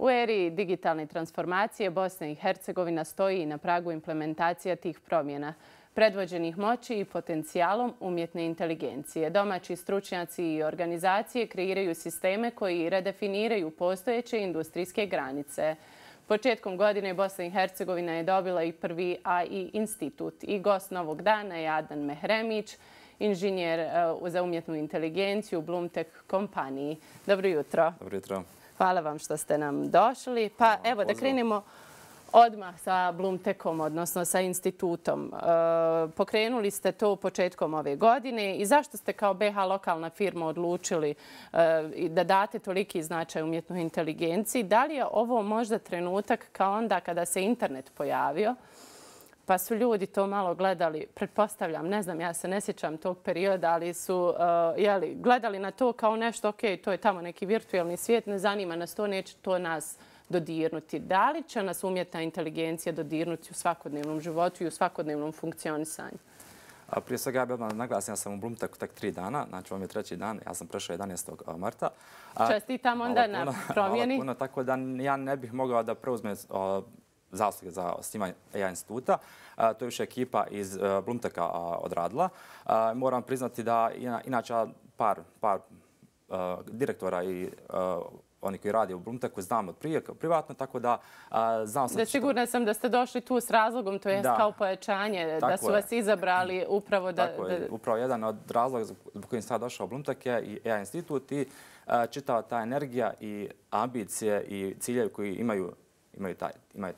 U eri digitalne transformacije Bosna i Hercegovina stoji na pragu implementacija tih promjena, predvođenih moći i potencijalom umjetne inteligencije. Domaći stručnjaci i organizacije kreiraju sisteme koji redefiniraju postojeće industrijske granice. Početkom godine Bosna i Hercegovina je dobila i prvi AI institut i gost novog dana je Adnan Mehremić, inženjer za umjetnu inteligenciju u Blumtech kompaniji. Dobro jutro. Dobro jutro. Hvala vam što ste nam došli. Pa evo da krenemo odmah sa Blumtechom, odnosno sa institutom. Pokrenuli ste to početkom ove godine i zašto ste kao BiH lokalna firma odlučili da date toliki značaj umjetnoj inteligenciji? Da li je ovo možda trenutak kao onda kada se internet pojavio? Pa su ljudi to malo gledali, pretpostavljam, ne znam, ja se ne sjećam tog perioda, ali su gledali na to kao nešto, ok, to je tamo neki virtualni svijet, ne zanima nas to, neće to nas dodirnuti. Da li će nas umjetna inteligencija dodirnuti u svakodnevnom životu i u svakodnevnom funkcionisanju? Prije svega ja bih odmah naglasio, ja sam u Blumtechu tek 3 dana, znači ovo je 3. dan, ja sam prešao 11. marta. Čestitam onda na promjeni. Hvala puno, tako da ja ne bih mogao da preuzmem zasluge za osnivanje AI instituta. To je više ekipa iz Blumtecha odradila. Moram priznati da inače par direktora i oni koji radi u Blumtechu znam od prije privatno, tako da znam sam... Sigurna sam da ste došli tu s razlogom, to je kao pojačanje, da su vas izabrali upravo da... Tako je, upravo jedan od razloga zbog kojim sam došao u Blumtech je i AI institut i čitava ta energija i ambicije i ciljevi koji imaju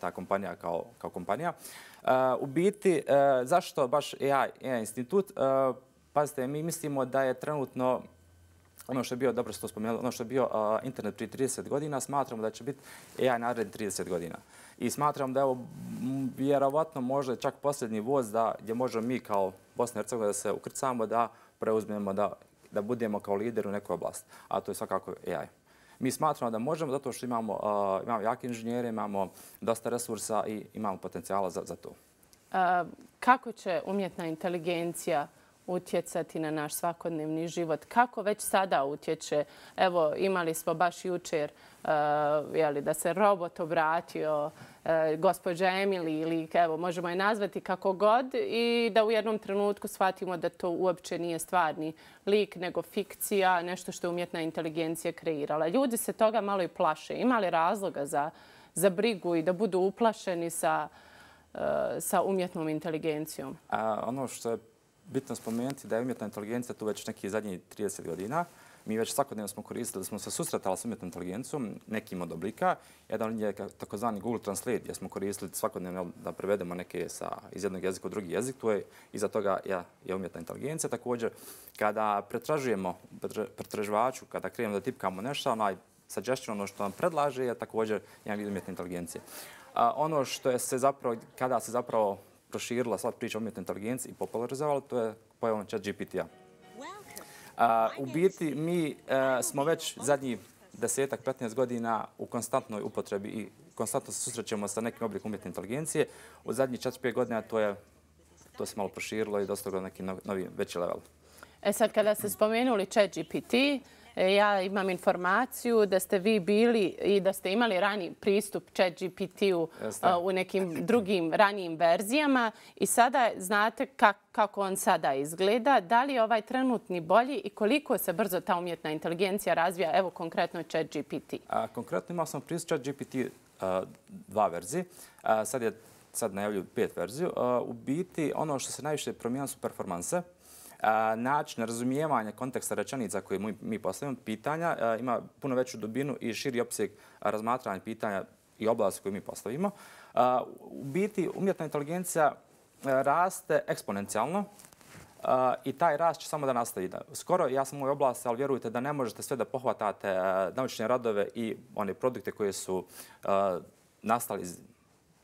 ta kompanija kao kompanija. U biti, zašto baš AI institut? Pazite, mi mislimo da je trenutno ono što je bio, dobro što spomenuli, ono što je bio internet prije 30 godina, smatramo da će biti AI narednih 30 godina. I smatram da je ovo vjerovatno možda čak posljednji voz gdje možemo mi kao Bosna i Hercegovina da se ukrcamo, da preuzmemo, da budemo kao lider u nekoj oblasti. A to je svakako AI. Mi smatramo da možemo zato što imamo jake inženjere, imamo dosta resursa i imamo potencijala za to. Kako će umjetna inteligencija utjecati na naš svakodnevni život? Kako već sada utječe? Evo, imali smo baš jučer da se robot obratio gospođa Emily ili evo, možemo je nazvati kako god i da u jednom trenutku shvatimo da to uopće nije stvarni lik, nego fikcija, nešto što je umjetna inteligencija kreirala. Ljudi se toga malo i plaše. Ima li razloga za brigu i da budu uplašeni sa umjetnom inteligencijom? Ono što je bitno spomenuti da je umjetna inteligencija tu već nekih zadnjih 30 godina. Mi već svakodnevno smo koristili, da smo se susretali s umjetnom inteligencijom, nekim od oblika. Jedan je takozvani Google Translate, gdje smo koristili svakodnevno da prevedemo neke iz jednog jezika u drugi jezik. Tu je iza toga je umjetna inteligencija. Također, kada pretražujemo pretraživaču, kada krenemo da tipkamo nešto, onaj suggestion, ono što nam predlaže, je također jedan vid umjetne inteligencije. Ono što je kada se zapravo proširila sva priča o umjetnoj inteligenciji i popularizovala, to je pojavom ChatGPT-a. U biti, mi smo već zadnjih 10-15 godina u konstantnoj upotrebi i konstantno se susrećemo sa nekim oblikom umjetne inteligencije. U zadnjih 4-5 godina to se malo proširilo i dostiglo neki novi, veći level. Sad, kada ste spomenuli ChatGPT, ja imam informaciju da ste vi bili i da ste imali rani pristup ChatGPT-u u nekim drugim ranijim verzijama i sada znate kako on sada izgleda. Da li je ovaj trenutni bolji i koliko se brzo ta umjetna inteligencija razvija, evo konkretno ChatGPT? Konkretno imao sam pristup ChatGPT 2 verzije. Sad najavljuju 5 verziju. U biti ono što se najviše promijenilo su performanse. Način razumijevanja konteksta rečenica koje mi postavimo, pitanja, ima puno veću dubinu i širi opseg razmatranja pitanja i oblasti koje mi postavimo. U biti, umjetna inteligencija raste eksponencijalno i taj rast će samo da nastavi. Skoro, ja sam u ovoj oblasti, ali vjerujte da ne možete sve da pohvatate naučne radove i one produkte koje su nastali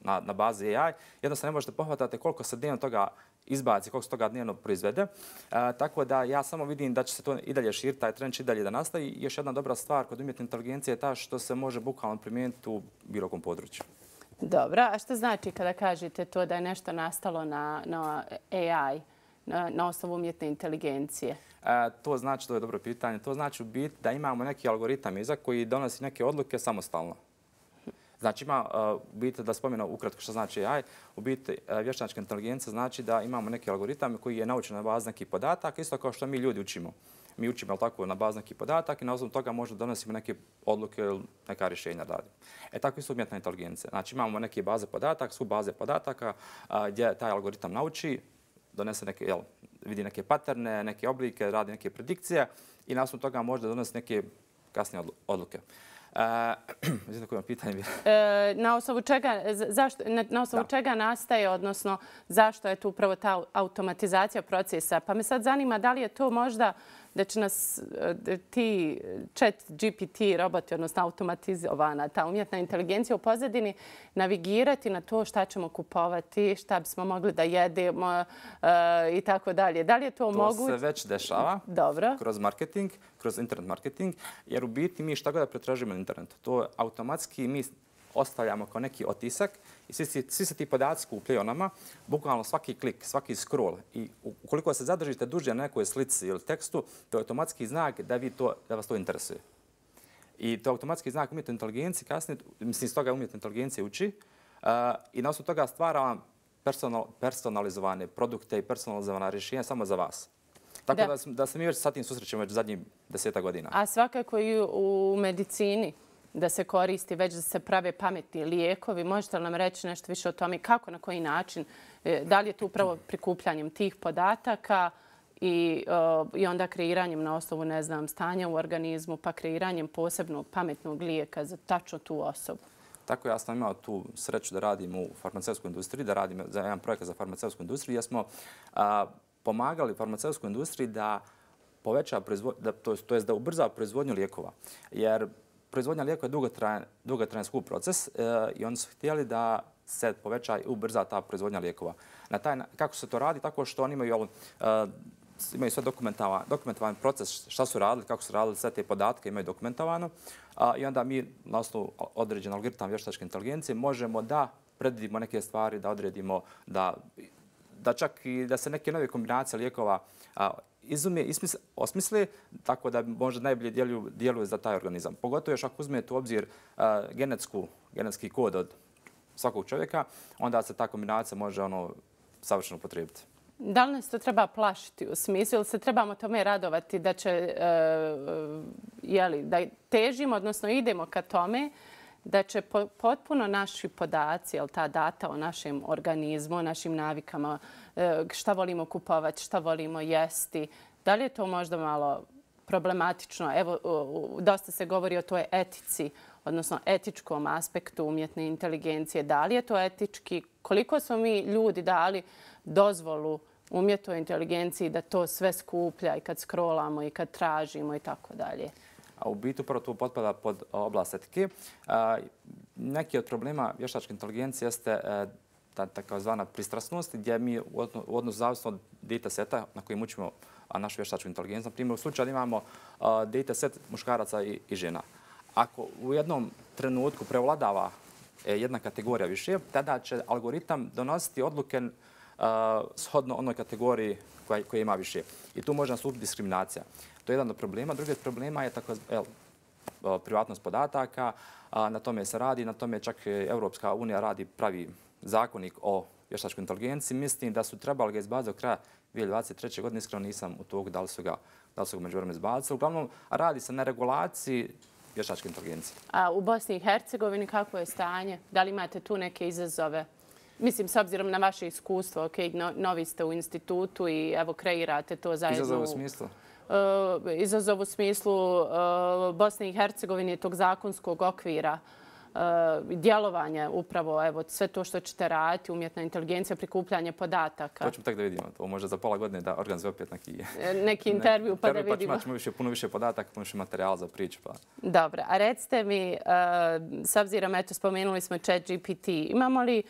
na bazi AI. Jednostavno ne možete pohvatate koliko se dnevno toga izbaci, koliko se toga dnevno proizvede. Tako da ja samo vidim da će se to i dalje širiti, taj trend će i dalje da nastavi. Još jedna dobra stvar kod umjetne inteligencije je ta što se može bukvalno primijeniti u bilo kom području. Dobro, a što znači kada kažete to da je nešto nastalo na AI, na osnovu umjetne inteligencije? To znači, to je dobro pitanje, to znači u biti da imamo neki algoritam iza koji donosi neke odluke samostalno. Znači ima, u biti da spomenu ukratko što znači AI, u biti vještačka inteligencija znači da imamo neki algoritam koji je naučen na bazi nekih podataka, isto kao što mi ljudi učimo. Mi učimo tako na bazi nekih podataka i na osnovu toga možda donosimo neke odluke ili neka rješenja radimo. Tako isto umjetna inteligencija. Znači imamo neke baze podataka, su baze podataka gdje taj algoritam nauči, donese neke, vidi neke paterne, neke oblike, radi neke predikcije i na osnovu toga možda donosi neke kasnije odluke. Mislim da koje pitanje na osnovu čega, na osnovu čega nastaje, odnosno zašto je tu upravo ta automatizacija procesa? Pa me sad zanima da li je to možda da će nas ti chat GPT roboti, odnosno automatizovana ta umjetna inteligencija u pozadini navigirati na to šta ćemo kupovati, šta bismo mogli da jedemo i tako dalje. Da li je to moguće? To se već dešava kroz marketing, kroz internet marketing, jer u biti mi šta god da pretražimo na internetu, to automatski mi ostavljamo kao neki otisak i svi se ti podaci skupljaju o nama, bukvalno svaki klik, svaki scroll. I ukoliko se zadržite duže na nekoj slici ili tekstu, to je automatski znak da vas to interesuje. I to je automatski znak umjetne inteligencije kasnije, mislim, iz toga umjetna inteligencija uči i na osnovu toga stvara vam personalizovane produkte i personalizovana rješenja samo za vas. Tako da se mi već sa tim susrećemo već zadnjih 10 godina. A svakako i u medicini da se koristi, već da se prave pametni lijekovi. Možete li nam reći nešto više o tome kako, na koji način? Da li je to upravo prikupljanjem tih podataka i onda kreiranjem na osnovu, ne znam, stanja u organizmu, pa kreiranjem posebnog pametnog lijeka za tačno tu osobu? Tako ja sam imao tu sreću da radim u farmaceutskoj industriji, da radim za jedan projekat za farmaceutsku industriju, jer smo pomagali farmaceutskoj industriji da poveća da ubrza proizvodnju lijekova. Jer proizvodnja lijekova je dugotrajan skup proces i oni su htjeli da se poveća i ubrza ta proizvodnja lijekova. Kako se to radi? Tako što oni imaju sve dokumentovan proces, šta su radili, kako su radili, sve te podatke imaju dokumentovano i onda mi na osnovu određen algoritam vještačke inteligencije možemo da predvidimo neke stvari, da odredimo da čak i da se neke nove kombinacije lijekova izume i osmisle tako da možda najbolje djeluju za taj organizam. Pogotovo još ako uzmete u obzir genetski kod od svakog čovjeka, onda se ta kombinacija može savršeno upotrijebiti. Da li nas to treba plašiti u smislu ili se trebamo tome radovati da će, da težimo, odnosno idemo ka tome da će potpuno naši podaci, ta data o našem organizmu, o našim navikama, šta volimo kupovati, šta volimo jesti, da li je to možda malo problematično? Evo, dosta se govori o toj etici, odnosno etičkom aspektu umjetne inteligencije. Da li je to etički? Koliko smo mi ljudi dali dozvolu umjetnoj inteligenciji da to sve skuplja i kad scrollamo i kad tražimo i tako dalje? A u biti upravo to potpada pod oblast etike. Neki od problema vještačke inteligencije jeste takozvana pristrasnost, gdje mi u odnosu zavisno od dataseta na kojim učimo našu vještačku inteligenciju. Na primjer, u slučaju imamo dataset muškaraca i žena. Ako u jednom trenutku prevladava jedna kategorija više, tada će algoritam donositi odluke shodno onoj kategoriji koja ima više. I tu može nastupiti diskriminacija. To je jedan od problema. Drugi od problema je privatnost podataka. Na tome se radi, na tome čak Europska unija radi pravi zakonik o vještačkoj inteligenciji. Mislim da su trebali ga izbaciti do kraja 2023. godine. Iskreno nisam u togu da li su ga međuvremeno izbacili. Uglavnom, radi se na regulaciji vještačke inteligencije. A u Bosni i Hercegovini kako je stanje? Da li imate tu neke izazove? Mislim, s obzirom na vaše iskustvo, novi ste u institutu i evo kreirate to zajedno. Izazov u smislu? Izazov u smislu Bosne i Hercegovine, tog zakonskog okvira, djelovanja upravo, evo, sve to što ćete raditi, umjetna inteligencija, prikupljanje podataka. To ćemo tek da vidimo. To može za pola godine da organizuje opet neki intervju pa da vidimo. Pa ćemo puno više podataka, puno više materijala za priču. Dobro, a recite mi, s obzirom, eto, spomenuli smo ChatGPT, imamo li,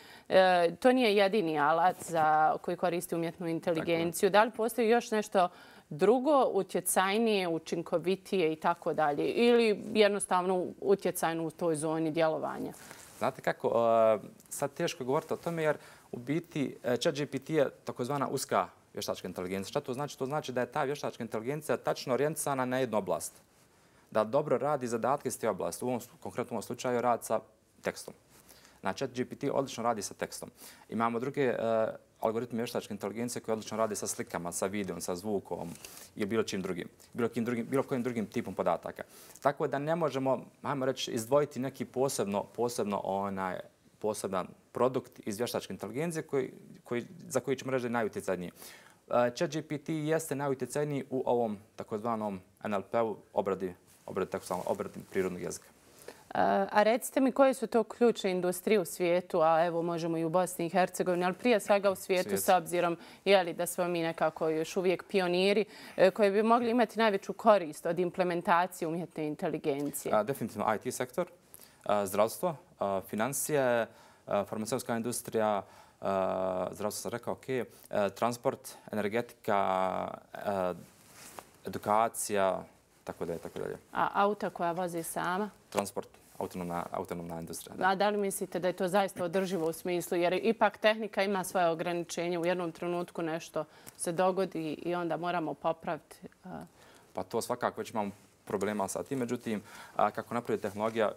to nije jedini alat koji koristi umjetnu inteligenciju, da li postoji još nešto drugo, utjecajnije, učinkovitije i tako dalje? Ili jednostavno utjecajno u toj zoni djelovanja? Znate kako, sad teško je govoriti o tome jer u biti ChatGPT je takozvana uska vještačka inteligencija. Šta to znači? To znači da je ta vještačka inteligencija tačno orijentisana na jednu oblast. Da dobro radi zadatke iz te oblasti. U ovom konkretnom slučaju rad sa tekstom. Znači, ChatGPT odlično radi sa tekstom. Imamo druge algoritme vještačke inteligencije koje odlično rade sa slikama, sa videom, sa zvukom i bilo čim drugim, bilo kojim drugim tipom podataka. Tako da ne možemo, ajmo reći, izdvojiti neki poseban produkt iz vještačke inteligencije za koji ćemo reći da je najutjecajniji. ChatGPT jeste najutjecajniji u ovom takozvanom NLP-u, obradi prirodnog jezika. A recite mi koje su to ključne industrije u svijetu, a evo možemo i u Bosni i Hercegovini, ali prije svega u svijetu s obzirom da smo mi nekako još uvijek pioniri koji bi mogli imati najveću korist od implementacije umjetne inteligencije? Definitivno IT sektor, zdravstvo, financije, farmaceutska industrija, zdravstvo sam rekao, ok, transport, energetika, edukacija, tako dalje. A auta koja vozi sama? Transport, autonomna industrija. A da li mislite da je to zaista održivo u smislu? Jer ipak tehnika ima svoje ograničenje. U jednom trenutku nešto se dogodi i onda moramo popraviti. Pa to svakako već imamo problema sa tim. Međutim, kako napravi tehnologija,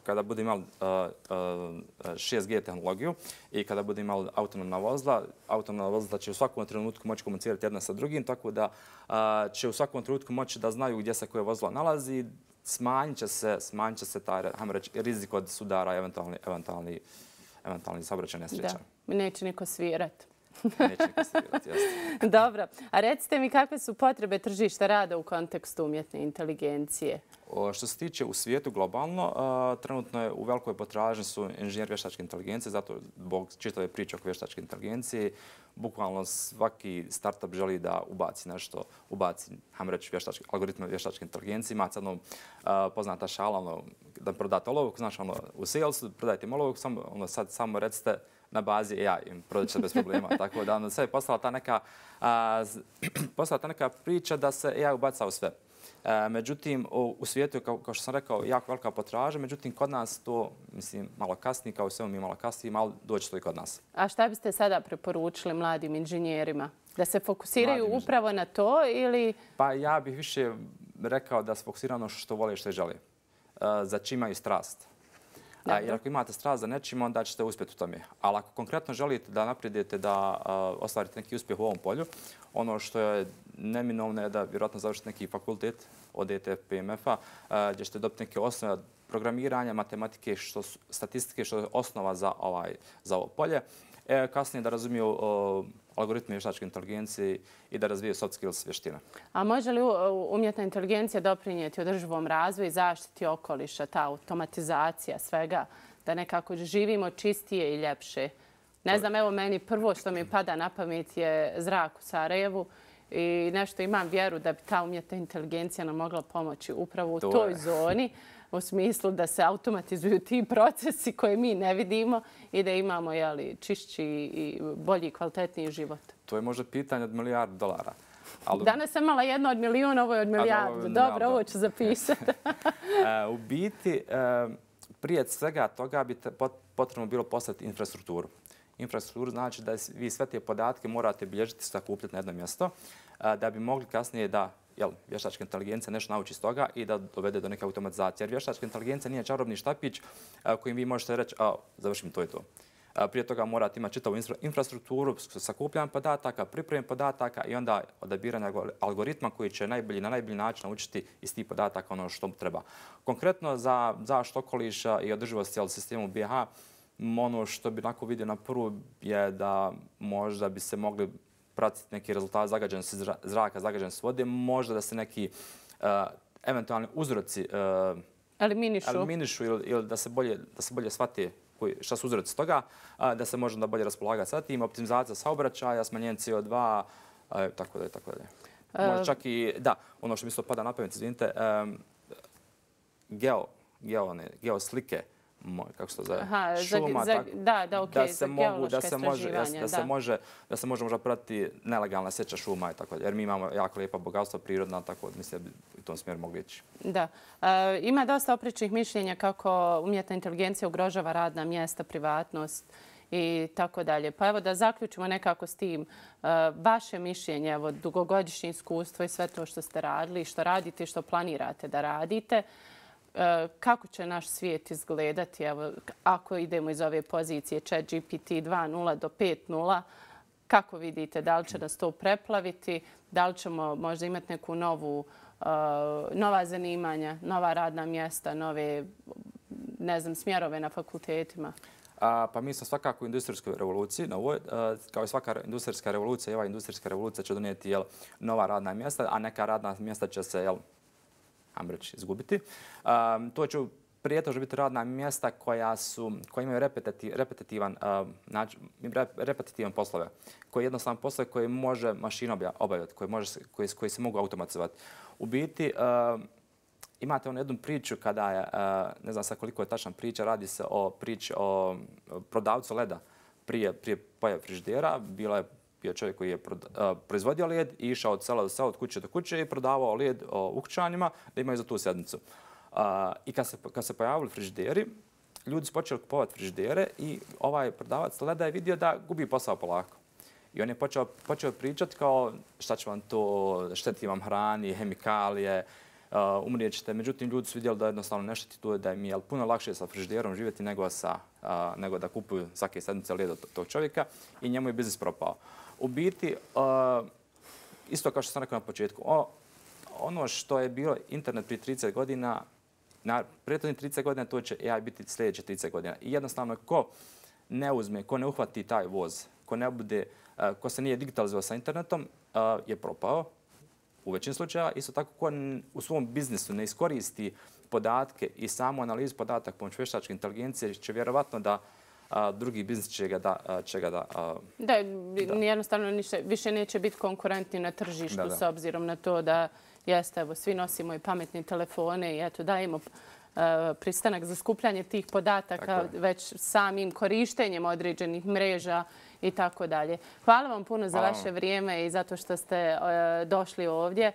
kada bude imali 6G tehnologiju i kada bude imali autonomna vozila će u svakom trenutku moći komunicirati jedna sa drugim, tako da će u svakom trenutku moći da znaju gdje se koje vozilo nalazi. Smanjit će se taj, hajmo reći, rizik od sudara i eventualni saobraćaj nesreća. Da, neće niko svirati. Neće niko svirati, jasno. Dobro. A recite mi kakve su potrebe tržišta rada u kontekstu umjetne inteligencije? Što se tiče u svijetu globalno, trenutno je u velikoj potražnji su inženjeri vještačke inteligencije, zato zbog čitave priče oko vještačke inteligencije, bukvalno svaki startup želi da ubaci nešto, hajmo reći, algoritme vještačke inteligencije. Ima sad poznata šala, da prodate olovku, znaš, u salesu, prodajte im olovku, sad samo recite na bazi AI, prodat će se bez problema. Tako da sve je postala ta neka priča da se AI ubaca u sve. Međutim, u svijetu je, kao što sam rekao, jako velika potražnja, međutim, kod nas to, mislim, malo kasni, kao i sve mi malo kasni, malo doći to i kod nas. A šta biste sada preporučili mladim inženjerima? Da se fokusiraju upravo na to ili... Pa ja bih više rekao da se fokusiraju ono što vole i što žele. Za čim imaju strast. Jer ako imate strast za nečim, onda ćete uspjeti u tome. Ali ako konkretno želite da napredujete, da ostvarite neki uspjeh u ovom polju, ono što je neminovno je da vjerojatno završite neki fakultet od ETF-PMF-a gdje ćete dobiti neke osnove programiranja, matematike, statistike, što je osnova za ovo polje. Kasnije da razumiju algoritme vještačke inteligencije i da razviju soft skills vještine. A može li umjetna inteligencija doprinijeti održivom razvoju i zaštiti okoliša, ta automatizacija svega, da nekako živimo čistije i ljepše? Ne znam, evo meni prvo što mi pada na pamet je zrak u Sarajevu i nešto imam vjeru da bi ta umjetna inteligencija nam mogla pomoći upravo u toj zoni, u smislu da se automatizuju ti procesi koje mi ne vidimo i da imamo čišći i bolji i kvalitetniji život. To je možda pitanje od $1 milijardu. Danas sam imala jedno od milijun, ovo je od milijardu. Dobro, ovo ću zapisati. U biti, prije svega toga bi potrebno bilo postaviti infrastrukturu. Infrastrukturu znači da vi sve te podatke morate bilježiti, sakupljati na jedno mjesto da bi mogli kasnije da vještačka inteligencija nešto nauči iz toga i da dovede do neke automatizacije. Jer vještačka inteligencija nije čarobni štapić kojim vi možete reći završim to i to. Prije toga morate imati čitavu infrastrukturu, sakupljanje podataka, pripremu podataka i onda odabiranje algoritma koji će na najbolji način naučiti iz tih podataka ono što treba. Konkretno za zaštitu okoliša i održivost cijelog sistema BiH, ono što bi onako vidio na prvu je da možda bi se mogli pratiti neki rezultat zagađenosti zraka, zagađenosti vode, možda da se neki eventualni uzroci eliminišu ili da se bolje shvati šta su uzroci toga, da se može bolje raspolagati sa tim, optimizacija saobraćaja, smanjenje CO2, tako dalje. Možda čak i, ono što mi se pada na pamet, izvinite, geoslike, kako se to zove, šuma, da se može možda pratiti nelegalna seča šuma i tako, jer mi imamo jako lijepa bogatstva prirodna, tako da mislim da bi u tom smjeru mogli ići. Da. Ima dosta oprečnih mišljenja kako umjetna inteligencija ugrožava radna mjesta, privatnost i tako dalje. Pa evo da zaključimo nekako s tim. Vaše mišljenje, evo dugogodišnje iskustvo i sve to što ste radili, što radite i što planirate da radite, kako će naš svijet izgledati ako idemo iz ove pozicije ChatGPT 2.0 do 5.0. Kako vidite, da li će nas to preplaviti, da li ćemo možda imati neku nova zanimanja, nova radna mjesta, nove smjerove na fakultetima? Pa mi smo svakako u industrijskoj revoluciji. Kao i svaka industrijska revolucija, ova industrijska revolucija će donijeti nova radna mjesta, a neka radna mjesta će se, ajmo reći, izgubiti. To će prijetežno biti radna mjesta koja imaju repetitivan poslove, koji jednostavno poslove koje može mašina obavljati, koji se mogu automatizovati. U biti, imate jednu priču kada je, ne znam sad koliko je tačna priča, radi se o priči o prodavcu leda prije pojave frižidera. Bio čovjek koji je proizvodio led i išao od sela do sela, od kuće do kuće i prodavao led ukućanima da imaju za tu sedmicu. I kad se pojavili frižideri, ljudi su počeli kupovati frižidere i ovaj prodavac leda je vidio da gubi posao polako. I on je počeo pričati kao šta će vam to, šteti vam hrani, hemikalije, umrijet ćete. Međutim, ljudi su vidjeli da jednostavno ne šteti to, da im je puno lakše sa frižiderom živjeti nego da kupuju svake sedmice led od tog čovjeka i njemu je biznis propao. U biti, isto kao što sam rekao na početku, ono što je bilo internet prije 30 godina, na prethodnih 30 godina to će AI biti sljedeće 30 godina. I jednostavno, ko ne uhvati taj voz, ko se nije digitalizovao sa internetom, je propao u većini slučajeva. Isto tako, ko u svom biznisu ne iskoristi podatke i samu analizu podataka pomoću vještačke inteligencije, će vjerovatno da drugi biznis će ga da... Da, jednostavno više neće biti konkurentni na tržištu s obzirom na to da svi nosimo i pametne telefone i eto dajemo pristanak za skupljanje tih podataka već samim korištenjem određenih mreža i tako dalje. Hvala vam puno za vaše vrijeme i zato što ste došli ovdje.